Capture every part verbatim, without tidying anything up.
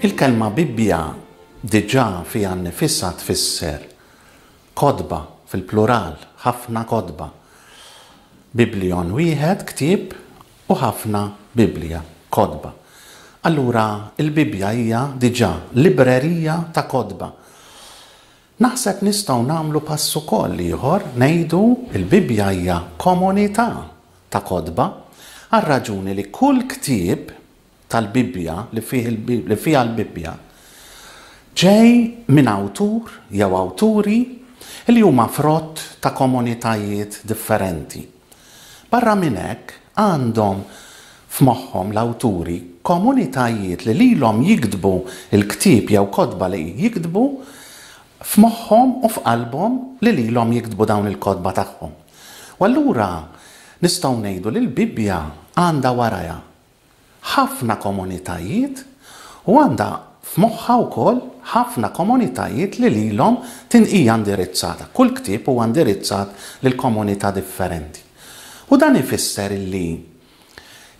Il-kelma Bibbja diġà fiha nnifisha tfisser kotba fil-plural, ħafna kotba. Biblion wieħed, ktieb, u ħafna Bibbja, kotba. Allura il-Bibbja hija diġà librerija ta' kotba. Naħseb nistgħu nagħmlu pass ukoll ieħor, ngħidu il-Bibbja hija komunità ta' kotba, għar-raġuni li kull ktieb tal-Bibbja li fih il-Bib-, li fiha l-Bibbja ġej minn awtur jew awturi li huma frott ta' komunitajiet differenti. Barra minn hekk għandhom f'moħħhom l-awturi komunitajiet li lilhom jiktbu il-ktieb jew kotba li jiktbu f'moħħhom u f'qalbhom li lilhom jiktbu dawn il-kotba tagħhom. U allura nistgħu ngħidu li l-Bibbja għandha warajha ħafna komunitajiet u għandha f'moħħha wkoll ħafna komunitajiet li lilhom hija indirizzata. Kull ktieb huwa indirizzat lil komunità differenti. U dan ifisser illi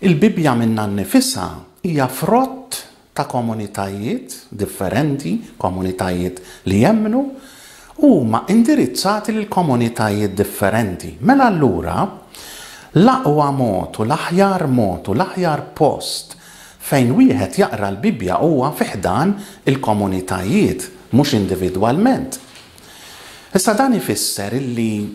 il-Bibbja minnha nnifisha hija frott ta' komunitajiet differenti, komunitajiet li jemmnu, u huma indirizzati lil komunitajiet differenti. Mela allura l-aqwa mod u l-aħjar mod u l-aħjar post fejn wieħed jaqra l-Bibbja huwa fi ħdan il-komunitajiet, mhux individwalment. Issa dan ifisser illi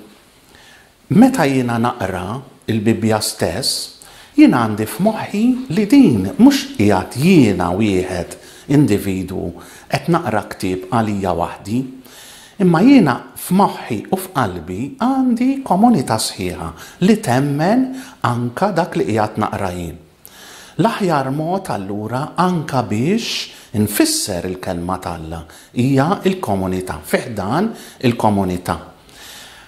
meta jiena naqra il-Bibbja stess, jiena għandi f'moħħi li din mhux qiegħed jiena wieħed individwu qed naqra ktieb għalija waħdi, imma jiena f'moħħi u f'qalbi għandi komunità sħiħa li temmen anka dak li qiegħed naqra jien. L-aħjar mod allura anka biex infisser il-kelma t'Alla hija il-komunità, fi ħdan il-komunità.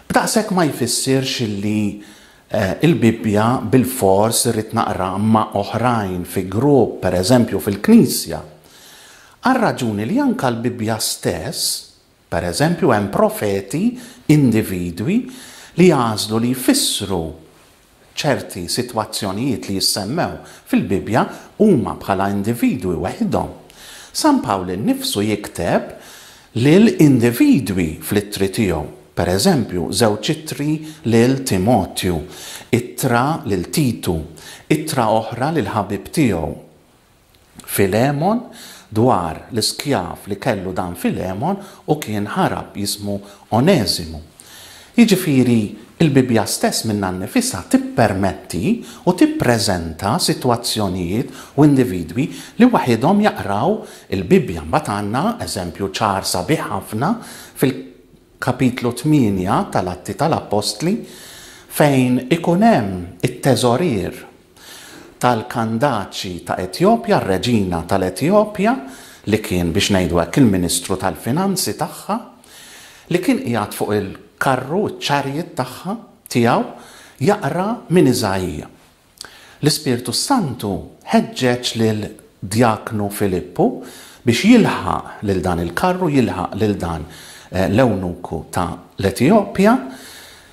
B'daqshekk ma jfissirx illi, eh, il-Bibbja bil-fors irrid naqra ma' oħrajn fi grupp, per eżempju fil-Knisja. Għar-raġuni li anka l-Bibbja stess, per eżempju, hemm profeti, individwi li jagħżlu li jfissru ċerti sitwazzjonijiet li jissemmew fil-Bibbja huma bħala individwi waħedhom. San Pawl innifsu jikteb lil individwi fl-ittri tiegħu. Per eżempju, żewġ ittri lil Timotju, ittra lil Titu, ittra oħra lil ħabib tiegħu Filemon, dwar l-iskjav li kellu dan Filemon u kien ħarab jismu Oneżimu. Jiġifieri il-Bibbja stess minnha nnifisha tippermetti u tippreżenta sitwazzjonijiet u individwi li waħedhom jaqraw il-Bibbja. Mbagħad għandna eżempju ċar sabiħ ħafna fil-kapitlu tmienja tal-Atti tal-Appostli fejn ikun hemm it-teżorier tal-Kandaċi ta' Etjopja, r-reġina tal-Etjopja, li kien biex ngħidu hekk il-Ministru tal-Finanzi tagħha, li kien qiegħed fuq il-karru, iċ-chariot tagħha tiegħu, jaqra minn Iżaija. L-Ispirtu Santu ħeġġeġ lil Djaknu Filippu biex jilħaq lil dan il-karru, jilħaq lil dan, eh, l-ewnuku ta' l-Etjopja,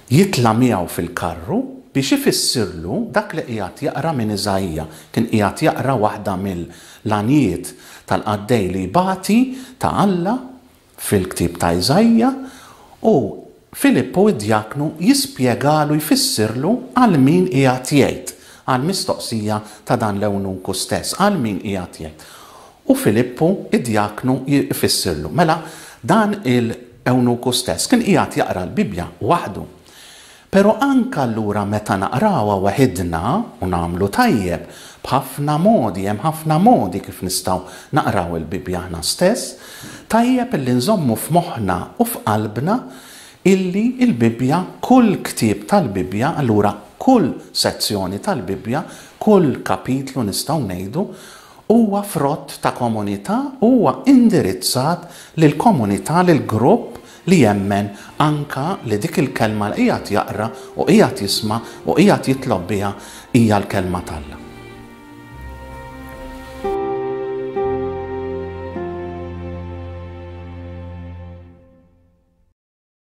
jitla' miegħu fil-karru biex ifissirlu dak li qiegħed jaqra minn Iżaija. Kien qiegħed jaqra waħda mill-għanjiet tal-qaddej li jbati ta' Alla fil-ktieb ta' Iżaija, u Filippu id-djaknu jispjegalu, jfissirlu għal min qiegħed jgħid, għal mistoqsija ta' dan l-ewnuku stess, għal min qiegħed jgħid. U Filippu id-djaknu jfissirlu. Mela dan il-ewnuku stess kien qiegħed jaqra l-Bibbja waħdu. Pero anka allura meta naqrawha waħidna u nagħmlu tajjeb b'ħafna modi, hemm ħafna modi kif nistgħu naqraw il-Bibbja aħna stess, tajjeb illi nżommu f'moħħna u f'qalbna illi il-Bibbja, kull ktieb tal-Bibbja, allura kull sezzjoni tal-Bibbja, kull kapitlu nistgħu ngħidu, huwa frott ta' komunità, huwa indirizzat lil komunità, lil grupp li jemmen anka li dik il-kelma li qiegħed jaqra u qiegħed jisma' u qiegħed jitlob biha hija l-kelma t'Alla.